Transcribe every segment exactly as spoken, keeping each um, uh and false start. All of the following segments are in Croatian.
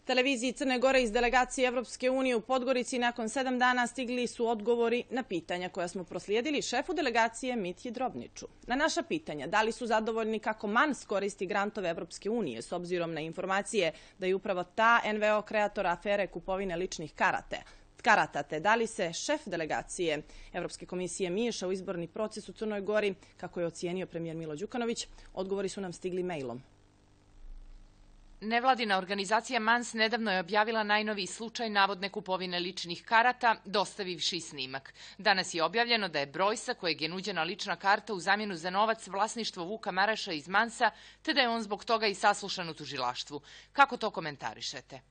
Televiziji Crne Gore iz delegacije Evropske unije u Podgorici nakon sedam dana stigli su odgovori na pitanja koja smo proslijedili šefu delegacije Mitji Drobniču. Na naša pitanja da li su zadovoljni kako Mans koristi grantove Evropske unije s obzirom na informacije da je upravo ta en ve o kreator afere kupovine ličnih karate, karata, te da li se šef delegacije Evropske komisije miješa u izborni proces u Crnoj Gori, kako je ocijenio premijer Milo Đukanović, odgovori su nam stigli mailom. Nevladina organizacija Mans nedavno je objavila najnoviji slučaj navodne kupovine ličnih karata, dostavivši snimak. Danas je objavljeno da je broj sa kojeg je nuđena lična karta u zamjenu za novac vlasništvo Vuka Maraša iz Mansa, te da je on zbog toga i saslušan u tužilaštvu. Kako to komentarišete?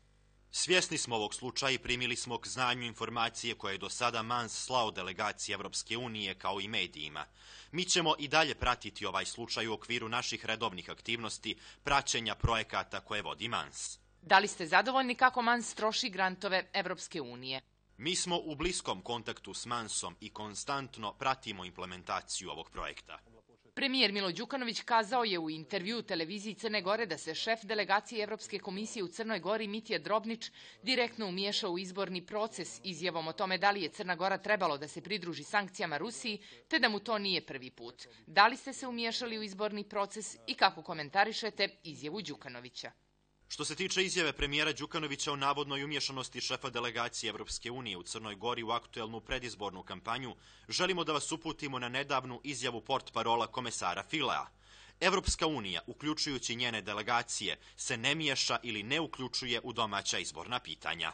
Svjesni smo ovog slučaja i primili smo k znanju informacije koje je do sada Mans slao delegaciji Evropske unije kao i medijima. Mi ćemo i dalje pratiti ovaj slučaj u okviru naših redovnih aktivnosti praćenja projekata koje vodi Mans. Da li ste zadovoljni kako Mans troši grantove Evropske unije? Mi smo u bliskom kontaktu s Mansom i konstantno pratimo implementaciju ovog projekta. Premijer Milo Đukanović kazao je u intervjuu televiziji Crne Gore da se šef delegacije Evropske komisije u Crnoj Gori Mitja Drobnič direktno umiješao u izborni proces izjavom o tome da li je Crna Gora trebalo da se pridruži sankcijama Rusiji, te da mu to nije prvi put. Da li ste se umiješali u izborni proces i kako komentarišete izjavu Đukanovića? Što se tiče izjave premijera Đukanovića o navodnoj umješanosti šefa delegacije Evropske unije u Crnoj Gori u aktuelnu predizbornu kampanju, želimo da vas uputimo na nedavnu izjavu portparola komesara Filea. Evropska unija, uključujući njene delegacije, se ne miješa ili ne uključuje u domaća izborna pitanja.